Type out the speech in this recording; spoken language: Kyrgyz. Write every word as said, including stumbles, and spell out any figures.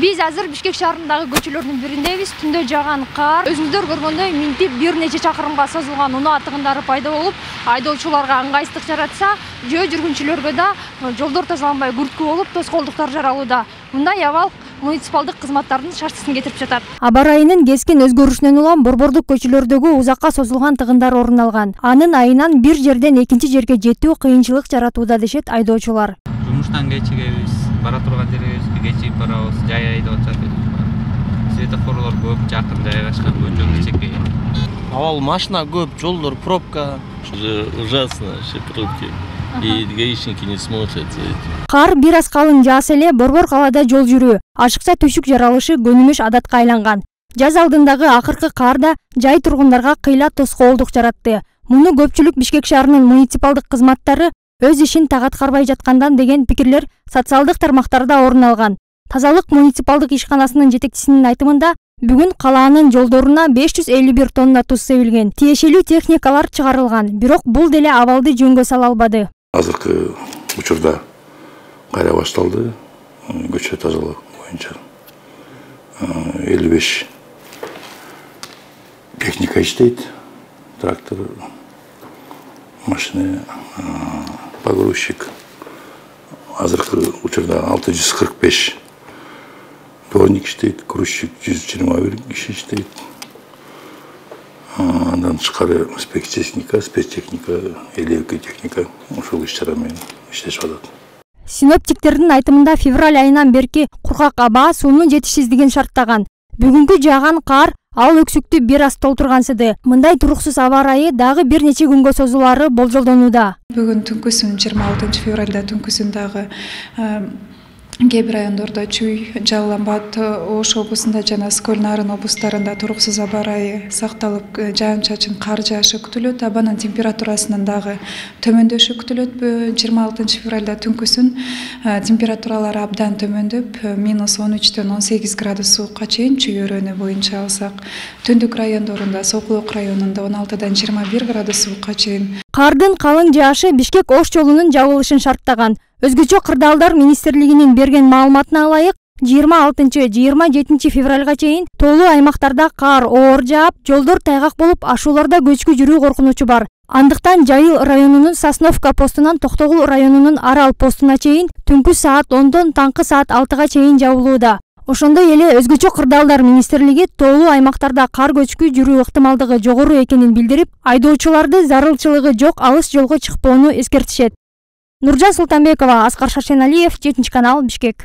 Биз азыр Бишкек шаарындагы көчөлөрдүн бириндебиз. Түндө жааган кар өзүңүздөр көргөндөй минтип бир нече чакырымга созулган унаа тыгындары пайда болуп, айдоочуларга ыңгайсыздык жаратса, жөө жүргүнчүлөргө да жолдор тазаланбай күрткү болуп, тоскоолдуктар жаралууда. Мындай абал муниципалдык кызматтардын шартсызын кетирип жатат. Аба ырайынын кескин өзгөрүшүнөн улам борбордук көчөлөрдөгү узакка созулган тыгындар орун алган. Анын айынан бир жерден экинчи жерге жетүү кыйынчылык жаратууда дешет айдоочулар. Жумуштан кечигебиз, бара турган жерибизге кечигип барабыз, жай айдап атат. Светофорлор көп, жакын жайгашкан, көчө кичекей. Абал машина көп, жолдор пробка. Ужасно, вообще пробки. И гаишники не смотрят за этим. Кар бир аз калың жааса эле борбор калаада жол жүрүү, ашыкча түшүк жаралышы көнүмүш адатка айланган. Жаз алдындагы акыркы кар да жай тургундарга кыйла тоскоолдук жаратты. Муну көпчүлүк Бишкек шаарынын муниципалдык кызматтары өз ишин так аткарбай жаткандан деген пикирлер социалдык тармактарда орун алган. Тазалык муниципалдык ишканасынын жетекчисинин айтымында, бүгүн калаанын жолдоруна беш жүз элүү бир тонна туз себилген. Тиешелүү техникалар чыгарылган, бирок бул деле абалды жөнгө сала албады. Азыркы учурда кайра башталды. Көчө тазалоо боюнча элүү беш техника иштейт. Трактор, машина, погрузчик. Азыркы учурда алты жүз кырк беш дворник иштейт, грузчик жүз жыйырма бир киши иштейт. Андан тышкары спецтехника, спецтехника, элүү эки техника ушул иш-чара менен иштешип атат. Синоптиктердин айтымында февраль айынан берки кургак аба суунун жетишсиздигин шарттаган. Бүгүнкү жааган кар ал өксүктү бир аз толтургансыды. Мындай туруксуз аба ырайы дагы бир нече күнгө созулары болжолдонууда. Бүгүн түнкүсүн жыйырма алтынчы февралда түнкүсүн дагы кээ бир райондордо чүй, Жалал Абад, Ош облусунда жана Скөл Нарын облустарында туруксуз аба ырайы сакталып, жаан-чачын кар жаашы күтүлөт. Абанын температурасынын дагы төмөндөшү күтүлөт. жыйырма алтынчы февралда түнкүсүн температуралары абдан төмөндөп, минус он үчтөн он сегиз градус суукка чейин чүй өрөөнү боюнча алсак, түндүк райондорунда Сокулук районунда он алтыдан жыйырма бир градус суукка чейин. Кардын калың жаашы Бишкек-Ош жолунун жабылышын шарттаган. Өзгөчө кырдаалдар министрлигинин берген маалыматына ылайык, жыйырма алтынчы — жыйырма жетинчи февралга чейин тоолуу аймактарда кар оор жаап, жолдор тайгак болуп, ашууларда көчкү жүрүү коркунучу бар. Андыктан Жайыл районунун Сосновка постунан Токтогул районунун Арал постуна чейин түнкү саат ондон таңкы саат алтыга чейин жабылууда. Ошондой эле өзгөчө кырдаалдар министрлиги тоолуу аймактарда кар көчкү жүрүү ыктымалдыгы жогору экенин билдирип, айдоочуларды зарылчылыгы жок алыс жолго чыкпоону эскертишет. Нуржан Султанбекова, Аскар Шаршеналиев, жетинчи канал, Бишкек.